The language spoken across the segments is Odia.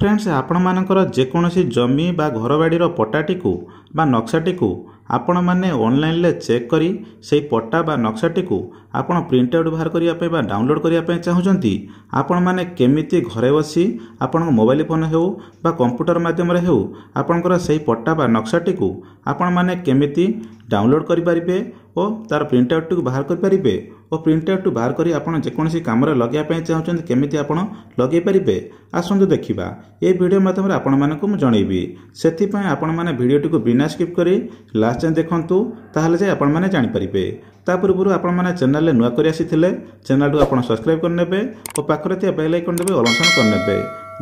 ଫ୍ରେଣ୍ଡସ୍, ଆପଣମାନଙ୍କର ଯେକୌଣସି ଜମି ବା ଘରବାଡ଼ିର ପଟ୍ଟାଟିକୁ ବା ନକ୍ସାଟିକୁ ଆପଣମାନେ ଅନଲାଇନ୍ରେ ଚେକ୍ କରି ସେଇ ପଟ୍ଟା ବା ନକ୍ସାଟିକୁ ଆପଣ ପ୍ରିଣ୍ଟ ଆଉଟ୍ ବାହାର କରିବା ପାଇଁ ବା ଡାଉନଲୋଡ଼୍ କରିବା ପାଇଁ ଚାହୁଁଛନ୍ତି, ଆପଣମାନେ କେମିତି ଘରେ ବସି ଆପଣଙ୍କ ମୋବାଇଲ ଫୋନ୍ ହେଉ ବା କମ୍ପ୍ୟୁଟର ମାଧ୍ୟମରେ ହେଉ ଆପଣଙ୍କର ସେଇ ପଟ୍ଟା ବା ନକ୍ସାଟିକୁ ଆପଣମାନେ କେମିତି ଡାଉନଲୋଡ଼୍ କରିପାରିବେ ଓ ତା'ର ପ୍ରିଣ୍ଟ ଆଉଟ୍ଟିକୁ ବାହାର କରିପାରିବେ ଓ ପ୍ରିଣ୍ଟ ଆଉଟ୍ଟି ବାହାର କରି ଆପଣ ଯେକୌଣସି କାମରେ ଲଗାଇବା ପାଇଁ ଚାହୁଁଛନ୍ତି କେମିତି ଆପଣ ଲଗାଇ ପାରିବେ, ଆସନ୍ତୁ ଦେଖିବା। ଏହି ଭିଡ଼ିଓ ମାଧ୍ୟମରେ ଆପଣମାନଙ୍କୁ ମୁଁ ଜଣାଇବି। ସେଥିପାଇଁ ଆପଣମାନେ ଭିଡ଼ିଓଟିକୁ ବିନା ସ୍କିପ୍ କରି ଲାଷ୍ଟ ଯାଏଁ ଦେଖନ୍ତୁ, ତାହେଲେ ଯାଇ ଆପଣମାନେ ଜାଣିପାରିବେ। ତା ପୂର୍ବରୁ ଆପଣମାନେ ଚ୍ୟାନେଲରେ ନୂଆ କରି ଆସିଥିଲେ ଚ୍ୟାନେଲଟିକୁ ଆପଣ ସବସ୍କ୍ରାଇବ୍ କରିନେବେ ଓ ପାଖରେ ଥିବା ବେଲ୍ ଆଇକନ୍ ଦେବେ ଅଲ୍ ଅପସନ୍ କରିନେବେ,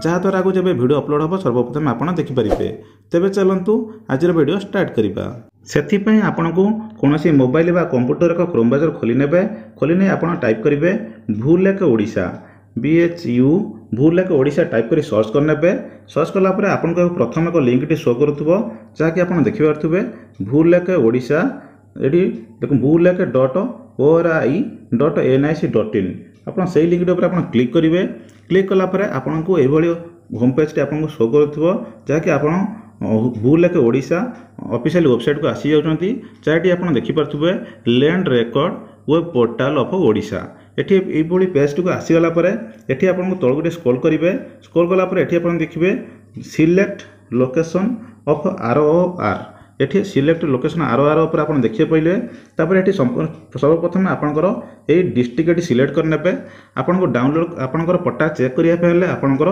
ଯାହାଦ୍ୱାରା ଆଗକୁ ଯେବେ ଭିଡ଼ିଓ ଅପଲୋଡ଼ ହେବ ସର୍ବପ୍ରଥମେ ଆପଣ ଦେଖିପାରିବେ। ତେବେ ଚାଲନ୍ତୁ ଆଜିର ଭିଡ଼ିଓ ଷ୍ଟାର୍ଟ କରିବା। ସେଥିପାଇଁ ଆପଣଙ୍କୁ କୌଣସି ମୋବାଇଲ ବା କମ୍ପ୍ୟୁଟର ଏକ କ୍ରୋମ୍ ବ୍ରାଉଜର ଖୋଲି ନେବେ। ଖୋଲି ନେଇ ଆପଣ ଟାଇପ୍ କରିବେ Bhulekh Odisha, B H U Bhulekh Odisha type କରି ସର୍ଚ୍ଚ କରିନେବେ। ସର୍ଚ୍ଚ କଲା ପରେ ଆପଣଙ୍କୁ ପ୍ରଥମେ ଏକ ଲିଙ୍କଟି ଶୋ କରୁଥିବ, ଯାହାକି ଆପଣ ଦେଖିପାରୁଥିବେ ଭୁଲେଖ ଓଡ଼ିଶା। ଏଠି ଦେଖନ୍ତୁ bhulekh.ori.nic.in, ଆପଣ ସେଇ ଲିଙ୍କଟି ଉପରେ ଆପଣ କ୍ଲିକ୍ କରିବେ। କ୍ଲିକ୍ କଲା ପରେ ଆପଣଙ୍କୁ ଏଇଭଳି ହୋମ୍ ପେଜ୍ଟି ଆପଣଙ୍କୁ ଶୋ କରୁଥିବ, ଯାହାକି ଆପଣ ଭୁଲେଖ ଓଡ଼ିଶା ଅଫିସିଆଲ ୱେବସାଇଟ୍କୁ ଆସିଯାଉଛନ୍ତି, ଯାହାଟି ଆପଣ ଦେଖିପାରୁଥିବେ land record web portal of Odisha. ଏଠି ଏଇଭଳି ପେଜ୍ଟିକୁ ଆସିଗଲା ପରେ ଏଠି ଆପଣଙ୍କୁ ତଳକୁ ଟିକେ ସ୍କ୍ରୋଲ୍ କରିବେ। ସ୍କ୍ରୋଲ୍ କଲା ପରେ ଏଠି ଆପଣ ଦେଖିବେ select location of R O R. ଏଠି ସିଲେକ୍ଟ ଲୋକେସନ୍ ଆର୍ ଓ ଆର୍ ଉପରେ ଆପଣ ଦେଖିବାକୁ ପାଇଲେ। ତାପରେ ଏଠି ସର୍ବପ୍ରଥମେ ଆପଣଙ୍କର ଏଇ ଡିଷ୍ଟ୍ରିକ୍ଟ ଏଠି ସିଲେକ୍ଟ କରିନେବେ। ଆପଣଙ୍କୁ ଡାଉନଲୋଡ଼ ଆପଣଙ୍କର ପଟ୍ଟା ଚେକ୍ କରିବା ପାଇଁ ହେଲେ ଆପଣଙ୍କର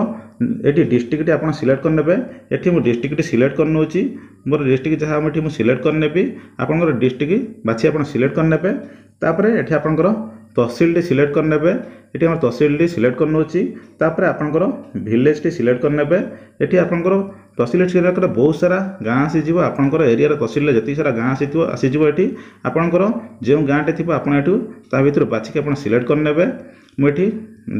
ଏଠି ଡିଷ୍ଟ୍ରିକ୍ଟଟି ଆପଣ ସିଲେକ୍ଟ କରିନେବେ। ଏଠି ମୁଁ ଡିଷ୍ଟ୍ରିକ୍ଟଟି ସିଲେକ୍ଟ କରିନେଉଛି, ମୋର ଡିଷ୍ଟ୍ରିକ୍ଟ ଯାହା ଏଠି ମୁଁ ସିଲେକ୍ଟ କରିନେବି। ଆପଣଙ୍କର ଡିଷ୍ଟ୍ରିକ୍ଟ ବାଛି ଆପଣ ସିଲେକ୍ଟ କରିନେବେ। ତାପରେ ଏଠି ଆପଣଙ୍କର ତହସିଲଟି ସିଲେକ୍ଟ କରିନେବେ। ଏଠି ଆମର ତହସିଲଟି ସିଲେକ୍ଟ କରିନେଉଛି। ତାପରେ ଆପଣଙ୍କର ଭିଲେଜଟି ସିଲେକ୍ଟ କରିନେବେ। ଏଠି ଆପଣଙ୍କର ତହସିଲ ସିଲେକ୍ଟ କଲେ ବହୁତ ସାରା ଗାଁ ଆସିଯିବ। ଆପଣଙ୍କର ଏରିଆର ତହସିଲରେ ଯେତିକି ସାରା ଗାଁ ଆସିଥିବ ଆସିଯିବ। ଏଠି ଆପଣଙ୍କର ଯେଉଁ ଗାଁଟି ଥିବ ଆପଣ ଏଠୁ ତା ଭିତରୁ ବାଛିକି ଆପଣ ସିଲେକ୍ଟ କରିନେବେ। ମୁଁ ଏଠି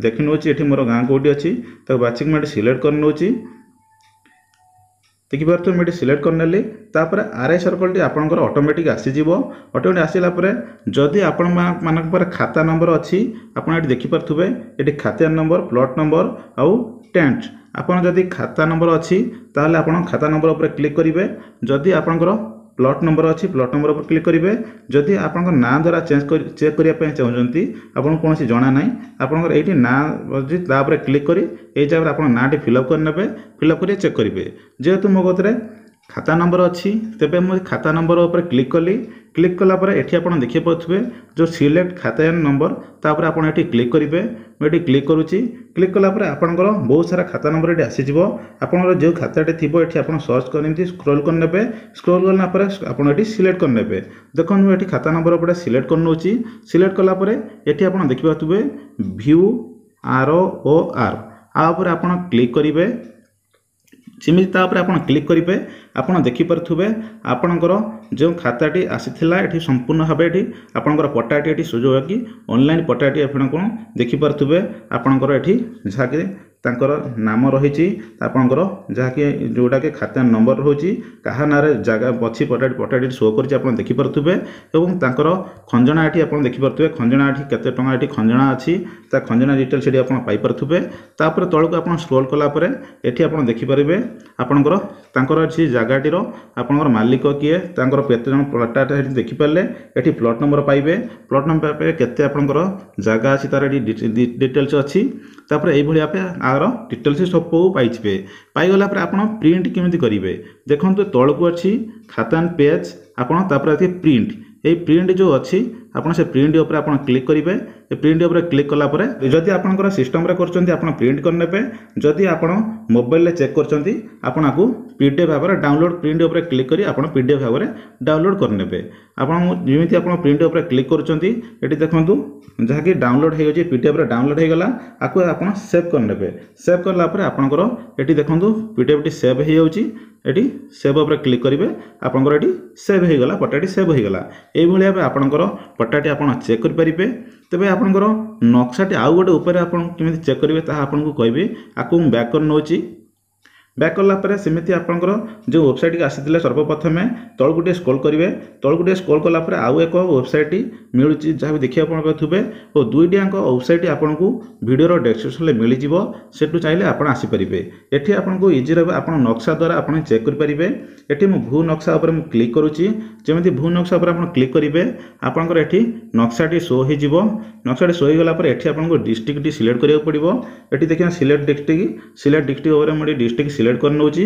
ଦେଖି ନେଉଛି ଏଠି ମୋର ଗାଁ କେଉଁଠି ଅଛି, ତାକୁ ବାଛିକି ମୁଁ ଏଠି ସିଲେକ୍ଟ କରିନେଉଛି। ଦେଖିପାରୁଥିବେ ମୁଁ ଏଠି ସିଲେକ୍ଟ କରିନେଲି। ତାପରେ ଆର୍ I ସର୍କଲ୍ଟି ଆପଣଙ୍କର ଅଟୋମେଟିକ୍ ଆସିଯିବ। ଅଟୋମେଟିକ୍ ଆସିଲା ପରେ ଯଦି ଆପଣମାନଙ୍କ ପାଖରେ ଖାତା ନମ୍ବର ଅଛି, ଆପଣ ଏଠି ଦେଖିପାରୁଥିବେ ଏଠି ଖାତା ନମ୍ବର, ପ୍ଲଟ୍ ନମ୍ବର ଆଉ ଟେଣ୍ଟ। ଆପଣ ଯଦି ଖାତା ନମ୍ବର ଅଛି ତାହେଲେ ଆପଣ ଖାତା ନମ୍ବର ଉପରେ କ୍ଲିକ୍ କରିବେ। ଯଦି ଆପଣଙ୍କର ପ୍ଲଟ୍ ନମ୍ବର ଅଛି ପ୍ଲଟ୍ ନମ୍ବର ଉପରେ କ୍ଲିକ୍ କରିବେ। ଯଦି ଆପଣଙ୍କ ନାଁ ଦ୍ୱାରା ଚେଞ୍ଜ କରି ଚେକ୍ କରିବା ପାଇଁ ଚାହୁଁଛନ୍ତି, ଆପଣଙ୍କୁ କୌଣସି ଜଣା ନାହିଁ, ଆପଣଙ୍କର ଏଇଠି ନାଁ ଅଛି ତା ଉପରେ କ୍ଲିକ୍ କରି ଏଇ ଜାଗାରେ ଆପଣ ନାଁଟି ଫିଲ୍ଅପ୍ କରିନେବେ। ଫିଲ୍ଅପ୍ କରି ଚେକ୍ କରିବେ। ଯେହେତୁ ମୋ କତିରେ ଖାତା ନମ୍ବର ଅଛି, ତେବେ ମୁଁ ଖାତା ନମ୍ବର ଉପରେ କ୍ଲିକ୍ କଲି। କ୍ଲିକ୍ କଲା ପରେ ଏଠି ଆପଣ ଦେଖିପାରୁଥିବେ ଯେଉଁ ସିଲେକ୍ଟ ଖାତା ନମ୍ବର, ତାପରେ ଆପଣ ଏଠି କ୍ଲିକ୍ କରିବେ। ମୁଁ ଏଠି କ୍ଲିକ୍ କରୁଛି। କ୍ଲିକ୍ କଲା ପରେ ଆପଣଙ୍କର ବହୁତ ସାରା ଖାତା ନମ୍ବର ଏଠି ଆସିଯିବ। ଆପଣଙ୍କର ଯେଉଁ ଖାତାଟି ଥିବ ଏଠି ଆପଣ ସର୍ଚ୍ଚ କରି ଏମିତି ସ୍କ୍ରୋଲ୍ କରିନେବେ। ସ୍କ୍ରୋଲ୍ କଲା ପରେ ଆପଣ ଏଠି ସିଲେକ୍ଟ କରିନେବେ। ଦେଖନ୍ତୁ ମୁଁ ଏଠି ଖାତା ନମ୍ବର ଉପରେ ସିଲେକ୍ଟ କରିନେଉଛି। ସିଲେକ୍ଟ କଲା ପରେ ଏଠି ଆପଣ ଦେଖିପାରୁଥିବେ ଭ୍ୟୁ ଆର୍ ଓ ଆର୍, ଆ ଉପରେ ଆପଣ କ୍ଲିକ୍ କରିବେ। ଯେମିତି ତା ଉପରେ ଆପଣ କ୍ଲିକ୍ କରିବେ, ଆପଣ ଦେଖିପାରୁଥିବେ ଆପଣଙ୍କର ଯେଉଁ ଖାତାଟି ଆସିଥିଲା ଏଠି ସମ୍ପୂର୍ଣ୍ଣ ଭାବେ ଏଠି ଆପଣଙ୍କର ପଟ୍ଟାଟି ଏଠି ସୁଯୋଗ କି ଅନଲାଇନ୍ ପଟ୍ଟାଟି ଆପଣ କ'ଣ ଦେଖିପାରୁଥିବେ। ଆପଣଙ୍କର ଏଠି ଯାହାକି ତାଙ୍କର ନାମ ରହିଛି, ଆପଣଙ୍କର ଯାହାକି ଯେଉଁଟାକି ଖାତା ନମ୍ବର ରହୁଛି, କାହା ନାଁରେ ଜାଗା ଅଛି, ପଟ୍ଟାଟି ଶୋ କରୁଛି ଆପଣ ଦେଖିପାରୁଥିବେ। ଏବଂ ତାଙ୍କର ଖଞ୍ଜଣା ଏଠି ଆପଣ ଦେଖିପାରୁଥିବେ, ଖଞ୍ଜଣା ଏଠି କେତେ ଟଙ୍କା ଏଠି ଖଞ୍ଜଣା ଅଛି ତା ଖଞ୍ଜଣା ଡିଟେଲ୍ସ ଏଠି ଆପଣ ପାଇପାରୁଥିବେ। ତାପରେ ତଳକୁ ଆପଣ ସ୍କ୍ରୋଲ୍ କଲା ପରେ ଏଠି ଆପଣ ଦେଖିପାରିବେ ଆପଣଙ୍କର ତାଙ୍କର ସେ ଜାଗାଟିର ଆପଣଙ୍କର ମାଲିକ କିଏ, ତାଙ୍କର କେତେ ଜଣ ପଟ୍ଟାଟା ଏଠି ଦେଖିପାରିଲେ। ଏଠି ପ୍ଲଟ୍ ନମ୍ବର ପାଇବେ, ପ୍ଲଟ୍ ନମ୍ବର ପାଇବେ କେତେ ଆପଣଙ୍କର ଜାଗା ଅଛି ତାର ଏଠି ଡିଟେଲ୍ସ ଅଛି। ତାପରେ ଏଇଭଳି ଭାବେ ଆର ଡିଟେଲ୍ସ ସବୁ ପାଇଯିବେ। ପାଇଗଲା ପରେ ଆପଣ ପ୍ରିଣ୍ଟ କେମିତି କରିବେ, ଦେଖନ୍ତୁ ତଳକୁ ଅଛି ଖାତାନ ପେଜ୍, ଆପଣ ତାପରେ ଅଛି ପ୍ରିଣ୍ଟ। ଏଇ ପ୍ରିଣ୍ଟ ଯେଉଁ ଅଛି ଆପଣ ସେ ପ୍ରିଣ୍ଟ ଉପରେ ଆପଣ କ୍ଲିକ୍ କରିବେ। ଏ ପ୍ରିଣ୍ଟ ଉପରେ କ୍ଲିକ୍ କଲା ପରେ ଯଦି ଆପଣଙ୍କର ସିଷ୍ଟମ୍ରେ କରୁଛନ୍ତି ଆପଣ ପ୍ରିଣ୍ଟ କରିନେବେ। ଯଦି ଆପଣ ମୋବାଇଲରେ ଚେକ୍ କରୁଛନ୍ତି ଆପଣ ଆକୁ ପି ଡି ଏଫ୍ ଭାବରେ ଡାଉନଲୋଡ଼ ପ୍ରିଣ୍ଟ ଉପରେ କ୍ଲିକ୍ କରି ଆପଣ ପି ଡି ଏଫ୍ ଭାବରେ ଡାଉନଲୋଡ଼ କରିନେବେ। ଆପଣ ଯେମିତି ଆପଣ ପ୍ରିଣ୍ଟ ଉପରେ କ୍ଲିକ୍ କରୁଛନ୍ତି ଏଠି ଦେଖନ୍ତୁ ଯାହାକି ଡାଉନଲୋଡ଼ ହେଇଯାଉଛି, ପି ଡି ଏଫ୍ରେ ଡାଉନଲୋଡ଼ ହେଇଗଲା। ଆକୁ ଆପଣ ସେଭ୍ କରିନେବେ। ସେଭ୍ କଲା ପରେ ଆପଣଙ୍କର ଏଠି ଦେଖନ୍ତୁ ପି ଡି ଏଫ୍ଟି ସେଭ୍ ହେଇଯାଉଛି। ଏଠି ସେଭ୍ ଉପରେ କ୍ଲିକ୍ କରିବେ, ଆପଣଙ୍କର ଏଠି ସେଭ୍ ହେଇଗଲା, ପଟ୍ଟାଟି ସେଭ୍ ହେଇଗଲା। ଏଇଭଳି ଭାବେ ଆପଣଙ୍କର ପଟ୍ଟାଟି ଆପଣ ଚେକ୍ କରିପାରିବେ। ତେବେ ଆପଣଙ୍କର ନକ୍ସାଟି ଆଉ ଗୋଟେ ଉପରେ ଆପଣ କେମିତି ଚେକ୍ କରିବେ ତାହା ଆପଣଙ୍କୁ କହିବି। ଆକୁ ମୁଁ ବ୍ୟାକ୍ କରି ନେଉଛି। ବ୍ୟାକ୍ କଲା ପରେ ସେମିତି ଆପଣଙ୍କର ଯେଉଁ ୱେବସାଇଟ୍କି ଆସିଥିଲେ ସର୍ବପ୍ରଥମେ ତଳକୁ ଟିକେ ସ୍କ୍ରୋଲ୍ କରିବେ। ତଳକୁ ଟିକେ ସ୍କ୍ରୋଲ୍ କଲା ପରେ ଆଉ ଏକ ୱେବସାଇଟ୍ ମିଳୁଛି, ଯାହା ବି ଦେଖିବାକୁ ଆପଣ ପାଉଥିବେ, ଓ ଦୁଇଟି ଯାକ ୱେବସାଇଟ୍ ଆପଣଙ୍କୁ ଭିଡ଼ିଓର ଡେସ୍କ୍ରିପସନ୍ରେ ମିଳିଯିବ। ସେଠୁ ଚାହିଁଲେ ଆପଣ ଆସିପାରିବେ। ଏଠି ଆପଣଙ୍କୁ ଇଜି ରହିବ, ଆପଣ ନକ୍ସା ଦ୍ୱାରା ଆପଣ ଚେକ୍ କରିପାରିବେ। ଏଠି ମୁଁ ଭୂ ନକ୍ସା ଉପରେ ମୁଁ କ୍ଲିକ୍ କରୁଛି। ଯେମିତି ଭୂ ନକ୍ସା ଉପରେ ଆପଣ କ୍ଲିକ୍ କରିବେ, ଆପଣଙ୍କର ଏଠି ନକ୍ସାଟି ଶୋ ହୋଇଯିବ। ନକ୍ସାଟି ଶୋ ହୋଇଗଲା ପରେ ଏଠି ଆପଣଙ୍କୁ ଡିଷ୍ଟ୍ରିକ୍ଟଟି ସିଲେକ୍ଟ କରିବାକୁ ପଡ଼ିବ। ଏଠି ଦେଖିବା ସିଲେକ୍ଟ ଡିଷ୍ଟ୍ରିକ୍ଟ, ସିଲେକ୍ଟ ଡିଷ୍ଟ୍ରିକ୍ଟ ଉପରେ ମୁଁ ଏଠି ଡିଷ୍ଟ୍ରିକ୍ଟ ସିଲେକ୍ଟ କରିନେଉଛି।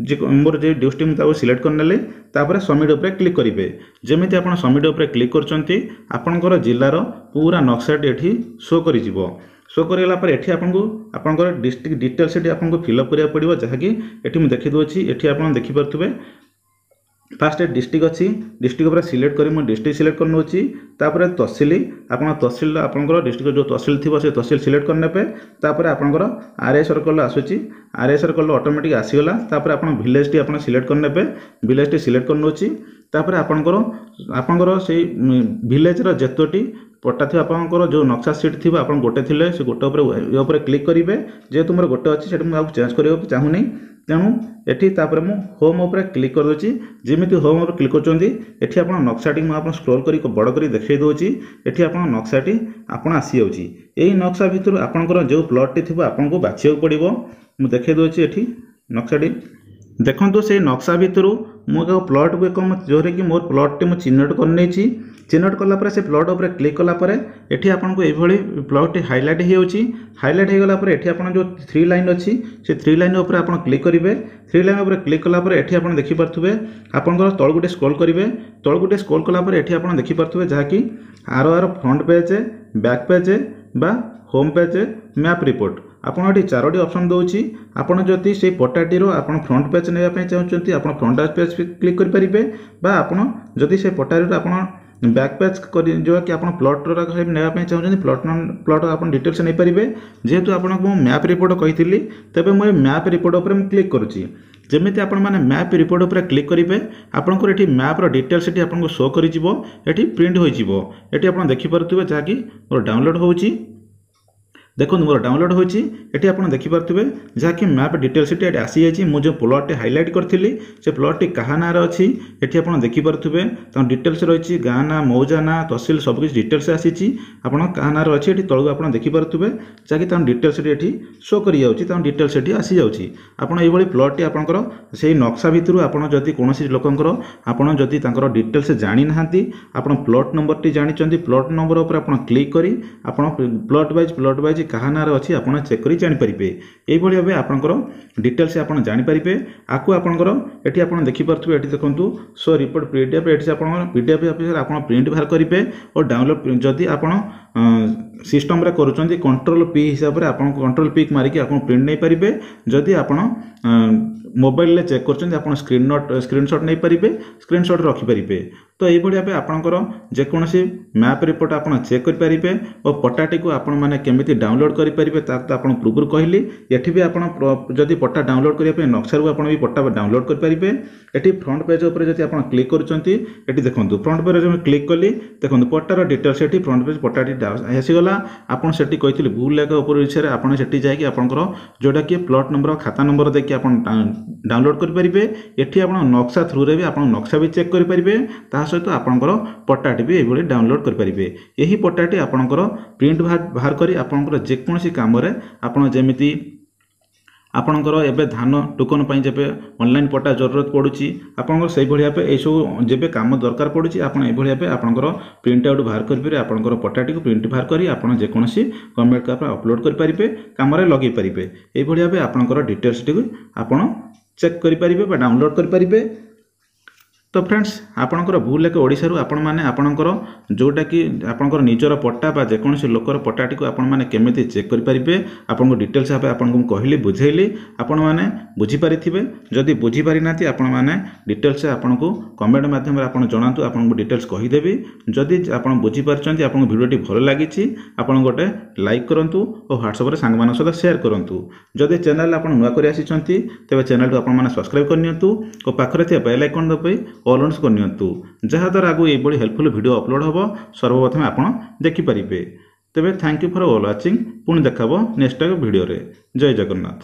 ଯେ ମୋର ଯେ ଡିଷ୍ଟ୍ରିକ୍ଟ, ମୁଁ ତାକୁ ସିଲେକ୍ଟ କରିନେଲି। ତାପରେ ସବମିଟ୍ ଉପରେ କ୍ଲିକ୍ କରିବେ। ଯେମିତି ଆପଣ ସବମିଟ୍ ଉପରେ କ୍ଲିକ୍ କରୁଛନ୍ତି, ଆପଣଙ୍କର ଜିଲ୍ଲାର ପୁରା ନକ୍ସାଟି ଏଠି ଶୋ କରିଯିବ। ଶୋ କରିଗଲା ପରେ ଏଠି ଆପଣଙ୍କୁ ଆପଣଙ୍କର ଡିଷ୍ଟ୍ରିକ୍ଟ ଡିଟେଲ୍ସ ଏଠି ଆପଣଙ୍କୁ ଫିଲ୍ଅପ୍ କରିବାକୁ ପଡ଼ିବ, ଯାହାକି ଏଠି ମୁଁ ଦେଖିଦେଉଛି। ଏଠି ଆପଣ ଦେଖିପାରୁଥିବେ, ଫାଷ୍ଟ ଡିଷ୍ଟ୍ରିକ୍ଟ ଅଛି। ଡିଷ୍ଟ୍ରିକ୍ଟ ଉପରେ ସିଲେକ୍ଟ କରି ମୁଁ ଡିଷ୍ଟ୍ରିକ୍ଟ ସିଲେକ୍ଟ କରିନେଉଛି। ତାପରେ ତହସିଲ, ଆପଣ ତହସିଲ, ଆପଣଙ୍କର ଡିଷ୍ଟ୍ରିକ୍ଟ ଯେଉଁ ତହସିଲ ଥିବ ସେ ତହସିଲ ସିଲେକ୍ଟ କରିନେବେ। ତାପରେ ଆପଣଙ୍କର ଆର୍ I circle ଆସୁଛି। ଆର୍ I circle automatic ଆସିଗଲା। ତାପରେ ଆପଣ ଭିଲେଜଟି ଆପଣ ସିଲେକ୍ଟ କରିନେବେ। ଭିଲେଜଟି ସିଲେକ୍ଟ କରିନେଉଛି। ତାପରେ ଆପଣଙ୍କର ସେଇ ଭିଲେଜର ଯେତୋଟି ପଟ୍ଟା ଥିବ, ଆପଣଙ୍କର ଯେଉଁ ନକ୍ସା ସିଟ୍ ଥିବ, ଆପଣ ଗୋଟେ ଥିଲେ ସେ ଗୋଟେ ଉପରେ ଏ ଉପରେ କ୍ଲିକ୍ କରିବେ। ଯେହେତୁ ମୋର ଗୋଟେ ଅଛି, ସେଠି ମୁଁ ଆଉ ଚେଞ୍ଜ କରିବାକୁ ଚାହୁଁନି, ତେଣୁ ଏଠି ତାପରେ ମୁଁ ହୋମ୍ ଉପରେ କ୍ଲିକ୍ କରିଦେଉଛି। ଯେମିତି ହୋମ୍ ଉପରେ କ୍ଲିକ୍ କରୁଛନ୍ତି, ଏଠି ଆପଣ ନକ୍ସାଟି ମୁଁ ଆପଣ ସ୍କ୍ରୋଲ୍ କରି ବଡ଼ କରି ଦେଖାଇ ଦେଉଛି। ଏଠି ଆପଣ ନକ୍ସାଟି ଆପଣ ଆସିଯାଉଛି। ଏଇ ନକ୍ସା ଭିତରୁ ଆପଣଙ୍କର ଯେଉଁ ପ୍ଲଟ୍ଟି ଥିବ ଆପଣଙ୍କୁ ବାଛିବାକୁ ପଡ଼ିବ। ମୁଁ ଦେଖାଇ ଦେଉଛି ଏଠି ନକ୍ସାଟି। ଦେଖନ୍ତୁ, ସେଇ ନକ୍ସା ଭିତରୁ ମୁଁ ଏକ ପ୍ଲଟ୍କୁ ଏକ ଯେଉଁଥିରେ କି ମୋର ପ୍ଲଟ୍ଟି ମୁଁ ଚିହ୍ନଟ କରିନେଇଛି। ଚିହ୍ନଟ କଲା ପରେ ସେ ପ୍ଲଟ୍ ଉପରେ କ୍ଲିକ୍ କଲା ପରେ ଏଠି ଆପଣଙ୍କୁ ଏଇଭଳି ପ୍ଲଟ୍ଟି ହାଇଲାଇଟ୍ ହେଇଯାଉଛି। ହାଇଲାଇଟ୍ ହେଇଗଲା ପରେ ଏଠି ଆପଣ ଯେଉଁ ଥ୍ରୀ ଲାଇନ୍ ଅଛି, ସେ ଥ୍ରୀ ଲାଇନ୍ ଉପରେ ଆପଣ କ୍ଲିକ୍ କରିବେ। ଥ୍ରୀ ଲାଇନ୍ ଉପରେ କ୍ଲିକ୍ କଲା ପରେ ଏଠି ଆପଣ ଦେଖିପାରୁଥିବେ, ଆପଣଙ୍କର ତଳକୁ ଟିକେ ସ୍କ୍ରୋଲ୍ କରିବେ। ତଳକୁ ଟିକେ ସ୍କ୍ରୋଲ୍ କଲା ପରେ ଏଠି ଆପଣ ଦେଖିପାରୁଥିବେ, ଯାହାକି ଆର ଆର ଫ୍ରଣ୍ଟ ପେଜ୍, ବ୍ୟାକ୍ ପେଜ୍ ବା ହୋମ୍ ପେଜ୍, ମ୍ୟାପ୍ ରିପୋର୍ଟ, ଆପଣ ଏଠି ଚାରୋଟି ଅପସନ୍ ଦେଉଛି। ଆପଣ ଯଦି ସେଇ ପଟ୍ଟାଟିର ଆପଣ ଫ୍ରଣ୍ଟ ପେଜ୍ ନେବା ପାଇଁ ଚାହୁଁଛନ୍ତି, ଆପଣ ଫ୍ରଣ୍ଟ ପେଜ୍ କ୍ଲିକ୍ କରିପାରିବେ, ବା ଆପଣ ଯଦି ସେ ପଟ୍ଟାଟିର ଆପଣ ବ୍ୟାକ୍ ପେଜ୍ କରି ଯେଉଁକି ଆପଣ ପ୍ଲଟ୍ର ନେବା ପାଇଁ ଚାହୁଁଛନ୍ତି, ପ୍ଲଟ୍ ଆପଣ ଡିଟେଲ୍ସ ନେଇପାରିବେ। ଯେହେତୁ ଆପଣଙ୍କୁ ମୁଁ ମ୍ୟାପ୍ ରିପୋର୍ଟ କହିଥିଲି, ତେବେ ମୁଁ ଏ ମ୍ୟାପ୍ ରିପୋର୍ଟ ଉପରେ ମୁଁ କ୍ଲିକ୍ କରୁଛି। ଯେମିତି ଆପଣମାନେ ମ୍ୟାପ୍ ରିପୋର୍ଟ ଉପରେ କ୍ଲିକ୍ କରିବେ, ଆପଣଙ୍କର ଏଠି ମ୍ୟାପ୍ର ଡିଟେଲ୍ସ ଏଠି ଆପଣଙ୍କୁ ଶୋ କରିଯିବ, ଏଠି ପ୍ରିଣ୍ଟ ହୋଇଯିବ। ଏଠି ଆପଣ ଦେଖିପାରୁଥିବେ, ଯାହାକି ମୋର ଡାଉନଲୋଡ଼ ହେଉଛି। ଦେଖନ୍ତୁ, ମୋର ଡାଉନଲୋଡ଼ ହୋଇଛି। ଏଠି ଆପଣ ଦେଖିପାରୁଥିବେ, ଯାହାକି ମ୍ୟାପ୍ ଡିଟେଲ୍ସଟି ଏଠି ଆସିଯାଇଛି। ମୁଁ ଯେଉଁ ପ୍ଲଟ୍ଟି ହାଇଲାଇଟ୍ କରିଥିଲି, ସେ ପ୍ଲଟ୍ଟି କାହା ନାଁରେ ଅଛି ଏଠି ଆପଣ ଦେଖିପାରୁଥିବେ। ତାଙ୍କ ଡିଟେଲ୍ସ ରହିଛି, ଗାଁ ନାଁ, ମୌଜା ନାଁ, ତହସିଲ, ସବୁକିଛି ଡିଟେଲ୍ସ ଆସିଛି। ଆପଣ କାହା ନାଁରେ ଅଛି ଏଠି ତଳକୁ ଆପଣ ଦେଖିପାରୁଥିବେ, ଯାହାକି ତାଙ୍କ ଡିଟେଲ୍ସଟି ଏଠି ଶୋ କରିଯାଉଛି, ତାଙ୍କ ଡିଟେଲ୍ସ ଏଠି ଆସିଯାଉଛି। ଆପଣ ଏଇଭଳି ପ୍ଲଟ୍ଟି ଆପଣଙ୍କର ସେଇ ନକ୍ସା ଭିତରୁ ଆପଣ ଯଦି କୌଣସି ଲୋକଙ୍କର ଆପଣ ଯଦି ତାଙ୍କର ଡିଟେଲ୍ସ ଜାଣିନାହାନ୍ତି, ଆପଣ ପ୍ଲଟ୍ ନମ୍ବରଟି ଜାଣିଛନ୍ତି, ପ୍ଲଟ୍ ନମ୍ବର ଉପରେ ଆପଣ କ୍ଲିକ୍ କରି ଆପଣ ପ୍ଲଟ୍ ୱାଇଜ୍ କାହା ନାଁରେ ଅଛି ଆପଣ ଚେକ୍ କରି ଜାଣିପାରିବେ। ଏଇଭଳି ଭାବେ ଆପଣଙ୍କର ଡିଟେଲ୍ସ ଆପଣ ଜାଣିପାରିବେ। ଆକୁ ଆପଣଙ୍କର ଏଠି ଆପଣ ଦେଖିପାରୁଥିବେ। ଏଠି ଦେଖନ୍ତୁ, ସୋ ରିପୋର୍ଟ ପିଡିଏଫ୍। ଏଠି ଆପଣଙ୍କର ପିଡିଏଫ୍ ଅଫିସରେ ଆପଣ ପ୍ରିଣ୍ଟ ବାହାର କରିବେ ଓ ଡାଉନଲୋଡ଼। ଯଦି ଆପଣ ସିଷ୍ଟମ୍ରେ କରୁଛନ୍ତି, କଣ୍ଟ୍ରୋଲ ପି ହିସାବରେ ଆପଣ କଣ୍ଟ୍ରୋଲ ପି ମାରିକି ଆପଣ ପ୍ରିଣ୍ଟ ନେଇପାରିବେ। ଯଦି ଆପଣ ମୋବାଇଲରେ ଚେକ୍ କରୁଛନ୍ତି, ଆପଣ ସ୍କ୍ରିନସଟ୍ ନେଇପାରିବେ, ସ୍କ୍ରିନସଟ୍ ରଖିପାରିବେ। ତ ଏଇଭଳି ଭାବେ ଆପଣଙ୍କର ଯେକୌଣସି ମ୍ୟାପ୍ ରିପୋର୍ଟ ଆପଣ ଚେକ୍ କରିପାରିବେ ଓ ପଟ୍ଟାଟିକୁ ଆପଣମାନେ କେମିତି ଡାଉନଲୋଡ଼ କରିପାରିବେ, ତାକୁ ତ ଆପଣ ପୂର୍ବରୁ କହିଲି। ଏଠି ବି ଆପଣ ଯଦି ପଟ୍ଟା ଡାଉନଲୋଡ଼ କରିବା ପାଇଁ ନକ୍ସାରୁ ଆପଣ ବି ପଟ୍ଟା ଡାଉନଲୋଡ଼ କରିପାରିବେ। ଏଠି ଫ୍ରଣ୍ଟ ପେଜ୍ ଉପରେ ଯଦି ଆପଣ କ୍ଲିକ୍ କରୁଛନ୍ତି, ଏଠି ଦେଖନ୍ତୁ, ଫ୍ରଣ୍ଟ ପେଜ୍ ମୁଁ କ୍ଲିକ୍ କଲି, ଦେଖନ୍ତୁ ପଟ୍ଟାର ଡିଟେଲ୍ସ ଏଠି ଫ୍ରଣ୍ଟ ପେଜ୍ ପଟ୍ଟାଟି ଆସିଗଲା। ଆପଣ ସେଠି କହିଥିଲି ଭୁଲ ଲେଖା ଉପରେ ବିଷୟରେ, ଆପଣ ସେଠି ଯାଇକି ଆପଣଙ୍କର ଯେଉଁଟାକି ପ୍ଲଟ୍ ନମ୍ବର, ଖାତା ନମ୍ବର ଦେଇକି ଆପଣ ଡାଉନଲୋଡ଼ କରିପାରିବେ। ଏଠି ଆପଣ ନକ୍ସା ଥ୍ରୁରେ ବି ଆପଣ ନକ୍ସା ବି ଚେକ୍ କରିପାରିବେ, ତା ସହିତ ଆପଣଙ୍କର ପଟ୍ଟାଟି ବି ଏଇଭଳି ଡାଉନଲୋଡ଼ କରିପାରିବେ। ଏହି ପଟ୍ଟାଟି ଆପଣଙ୍କର ପ୍ରିଣ୍ଟ ବାହାର କରି ଆପଣଙ୍କର ଯେକୌଣସି କାମରେ ଆପଣ, ଯେମିତି ଆପଣଙ୍କର ଏବେ ଧାନ ଟୋକନ ପାଇଁ ଯେବେ ଅନଲାଇନ୍ ପଟ୍ଟା ଜରୁରତ ପଡ଼ୁଛି, ଆପଣଙ୍କର ସେଇଭଳି ଭାବେ ଏଇସବୁ ଯେବେ କାମ ଦରକାର ପଡ଼ୁଛି, ଆପଣ ଏଇଭଳି ଭାବେ ଆପଣଙ୍କର ପ୍ରିଣ୍ଟ ଆଉଟ୍ ବାହାର କରିପାରିବେ। ଆପଣଙ୍କର ପଟ୍ଟାଟିକୁ ପ୍ରିଣ୍ଟ ବାହାର କରି ଆପଣ ଯେକୌଣସି ଗଭର୍ଣ୍ଣମେଣ୍ଟ କାମରେ ଅପଲୋଡ଼ କରିପାରିବେ, କାମରେ ଲଗେଇ ପାରିବେ। ଏଇଭଳି ଭାବେ ଆପଣଙ୍କର ଡିଟେଲ୍ସଟିକୁ ଆପଣ ଚେକ୍ କରିପାରିବେ ବା ଡାଉନଲୋଡ଼ କରିପାରିବେ। ତ ଫ୍ରେଣ୍ଡସ୍, ଆପଣଙ୍କର ଭୁଲ ଏକ ଓଡ଼ିଶାରୁ ଆପଣମାନେ ଆପଣଙ୍କର ଯେଉଁଟାକି ଆପଣଙ୍କର ନିଜର ପଟ୍ଟା ବା ଯେକୌଣସି ଲୋକର ପଟ୍ଟାଟିକୁ ଆପଣମାନେ କେମିତି ଚେକ୍ କରିପାରିବେ, ଆପଣଙ୍କ ଡିଟେଲ୍ସ ଭାବେ ଆପଣଙ୍କୁ ମୁଁ କହିଲି, ବୁଝେଇଲି, ଆପଣମାନେ ବୁଝିପାରିଥିବେ। ଯଦି ବୁଝିପାରିନାହାନ୍ତି, ଆପଣମାନେ ଡିଟେଲ୍ସ ଆପଣଙ୍କୁ କମେଣ୍ଟ ମାଧ୍ୟମରେ ଆପଣ ଜଣାନ୍ତୁ, ଆପଣଙ୍କୁ ଡିଟେଲ୍ସ କହିଦେବି। ଯଦି ଆପଣ ବୁଝିପାରିଛନ୍ତି, ଆପଣଙ୍କୁ ଭିଡ଼ିଓଟି ଭଲ ଲାଗିଛି, ଆପଣ ଗୋଟେ ଲାଇକ୍ କରନ୍ତୁ ଓ ହ୍ୱାଟ୍ସଆପ୍ରେ ସାଙ୍ଗମାନଙ୍କ ସହିତ ସେୟାର କରନ୍ତୁ। ଯଦି ଚ୍ୟାନେଲ୍ ଆପଣ ନୂଆ କରି ଆସିଛନ୍ତି, ତେବେ ଚ୍ୟାନେଲକୁ ଆପଣମାନେ ସବସ୍କ୍ରାଇବ୍ କରିନିଅନ୍ତୁ ଓ ପାଖରେ ଥିବା ବେଲ୍ ଆଇକନ୍ ଦବାଇ ଅଲ୍ ଅନ୍ସ କରିନିଅନ୍ତୁ, ଯାହାଦ୍ୱାରା ଆଗକୁ ଏଇଭଳି ହେଲ୍ପଫୁଲ୍ ଭିଡ଼ିଓ ଅପଲୋଡ଼ ହେବ, ସର୍ବପ୍ରଥମେ ଆପଣ ଦେଖିପାରିବେ। ତେବେ thank you for all watching. ପୁଣି ଦେଖା ହେବ ନେକ୍ସଟ ଭିଡ଼ିଓରେ। ଜୟ ଜଗନ୍ନାଥ।